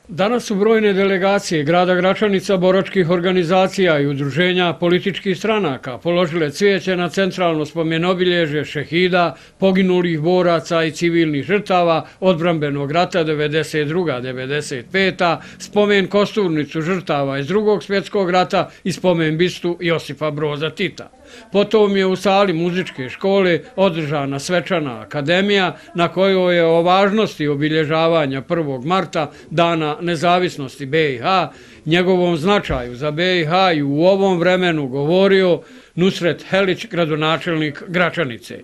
Danas su brojne delegacije grada Gračanica, boračkih organizacija i udruženja političkih stranaka položile cvijeće na centralno spomenobilježje šehida, poginulih boraca i civilnih žrtava odbrambenog rata 92-95, spomen kosturnicu žrtava iz Drugog svjetskog rata i spomen bistu Josipa Broza Tita. Potom je u sali muzičke škole održana svečana akademija na kojoj je o važnosti obilježavanja 1. marta, dana nezavisnosti BiH, njegovom značaju za BiH i u ovom vremenu govorio Nusret Helić, gradonačelnik Gračanice.